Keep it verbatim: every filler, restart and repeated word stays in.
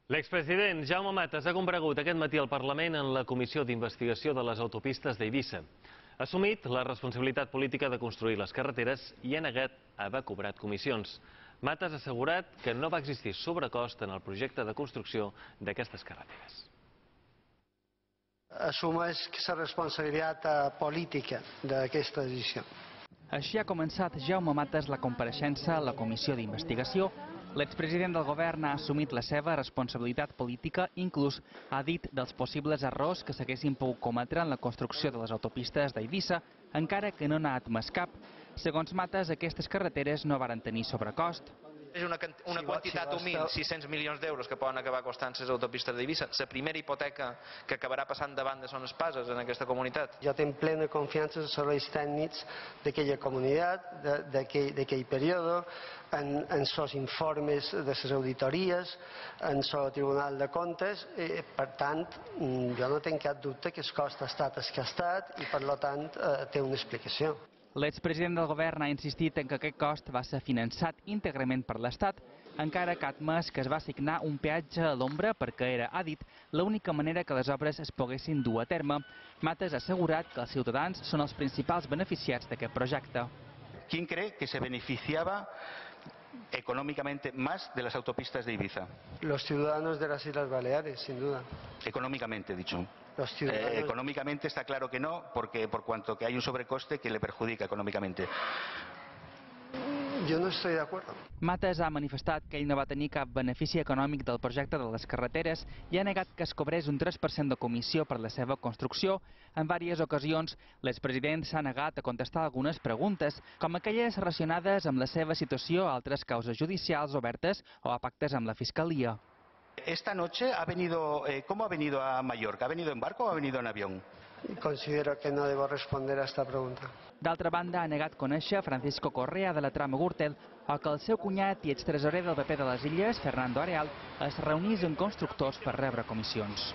L'expresident Jaume Matas ha comparegut aquest matí al Parlament en la Comissió d'Investigació de les Autopistes d'Eivissa. Ha assumit la responsabilitat política de construir les carreteres i ha negat haver cobrat comissions. Matas ha assegurat que no va existir sobrecost en el projecte de construcció d'aquestes carreteres. Assumeix la responsabilitat política d'aquesta decisió. Així ha començat Jaume Matas la compareixença a la Comissió d'Investigació. L'expresident del govern ha assumit la seva responsabilitat política, inclús ha dit dels possibles errors que s'haguessin pogut cometre en la construcció de les autopistes d'Eivissa, encara que no n'ha admès cap. Segons Matas, aquestes carreteres no varen tenir sobrecost. És una, una quantitat humil, sis-cents milions d'euros que poden acabar costant les autopistes d'Eivissa. La primera hipoteca que acabarà passant davant de son espases en aquesta comunitat. Jo tinc plena confiança en els serveis tècnics d'aquella comunitat, d'aquell període, en els informes de les auditories, en el Tribunal de Comptes. Per tant, jo no tinc cap dubte que el cost ha estat el que ha estat i, per tant, té una explicació. L'expresident del govern ha insistit en que aquest cost va ser finançat íntegrament per l'Estat, encara que ha admès que es va assignar un peatge a l'ombra perquè era, ha dit, l'única manera que les obres es poguessin dur a terme. Matas ha assegurat que els ciutadans són els principals beneficiats d'aquest projecte. ¿Quién cree que se beneficiaba económicamente más de las autopistas de Ibiza? Los ciudadanos de las Islas Baleares, sin duda. Económicamente, he dicho. Los ciudadanos... Eh, económicamente está claro que no, porque por cuanto que hay un sobrecoste que le perjudica económicamente. Jo no estic d'acord. Matas ha manifestat que ell no va tenir cap benefici econòmic del projecte de les carreteres i ha negat que es cobrés un tres per cent de comissió per la seva construcció. En diverses ocasions, l'expresident s'ha negat a contestar algunes preguntes, com aquelles relacionades amb la seva situació a altres causes judicials obertes o a pactes amb la Fiscalia. Esta noche ha venido, eh, ¿cómo ha venido a Mallorca? ¿Ha venido en barco o ha venido en avión? Considero que no debo responder a esta pregunta. D'altra banda, ha negat conèixer Francisco Correa de la trama Gürtel o que el seu cunyat i extresorer del P P de les Illes, Fernando Areal, es reunís amb constructors per rebre comissions.